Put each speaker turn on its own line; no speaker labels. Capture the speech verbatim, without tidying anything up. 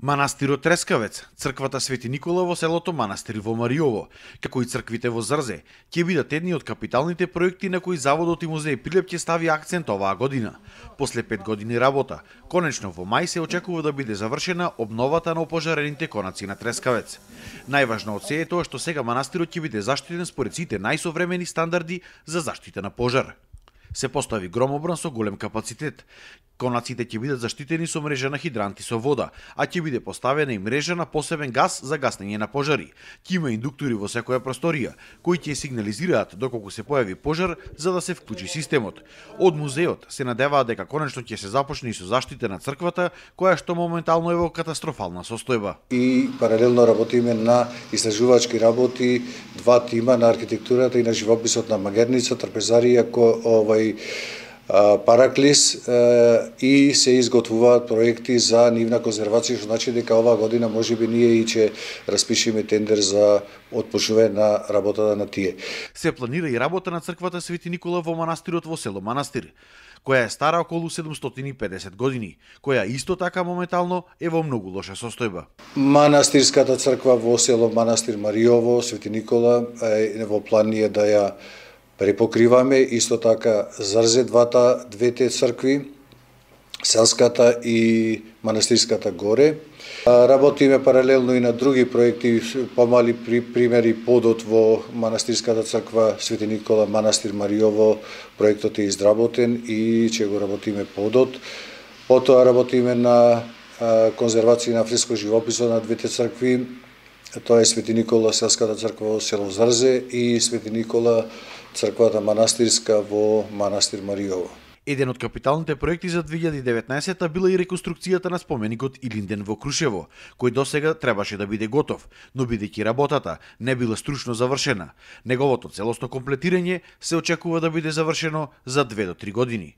Манастирот Трескавец, црквата Свети Никола во селото Манастир во Мариово, како и црквите во Зрзе, ќе бидат едни од капиталните проекти на кои Заводот и музеј Прилеп ќе стави акцент оваа година. После пет години работа, конечно во мај се очекува да биде завршена обновата на опожарените конаци на Трескавец. Најважно од се е тоа што сега манастирот ќе биде заштитен според сите најсовремени стандарди за заштита на пожар. Се постави громобран со голем капацитет. Конаците ќе бидат заштитени со мрежа на хидранти со вода, а ќе биде поставена и мрежа на посебен газ за гаснење на пожари. Ќе има индуктори во секоја просторија, кои ќе сигнализираат доколку се појави пожар за да се вклучи системот. Од музеот се надеваат дека конечно ќе се започне и со заштита на црквата, која што моментално е во катастрофална состојба.
И паралелно работиме на истражувачки работи, два тима на архитектурата и на живописот на Магерница, Трпезарија, ко овај Параклис и се изготвуваат проекти за нивна конзервација, што значи дека оваа година можеби ние и ќе распишеме тендер за отпочнување на работата на тие.
Се планира и работа на црквата Свети Никола во манастирот во село Манастир, која е стара околу седумстотини и педесет години, која исто така моментално е во многу лоша состојба.
Манастирската црква во село Манастир Мариово, Свети Никола, е во план е да ја препокриваме, исто така Зрзе, двата, двете цркви, селската и манастирската горе. Работиме паралелно и на други проекти, помали примери подот во манастирската црква Свети Никола, Манастир Мариово, проектот е изработен и ќе го работиме подот. Потоа работиме на конзервација на фреско живописот на двете цркви, тоа е Свети Никола, селската црква во село Зрзе и Свети Никола, црквата манастирска во Манастир Мариово.
Еден од капиталните проекти за две илјади и деветнаесетта била и реконструкцијата на споменикот Илинден во Крушево, кој досега требаше да биде готов, но бидејќи работата не била стручно завршена, неговото целосно комплетирање се очекува да биде завршено за две до три години.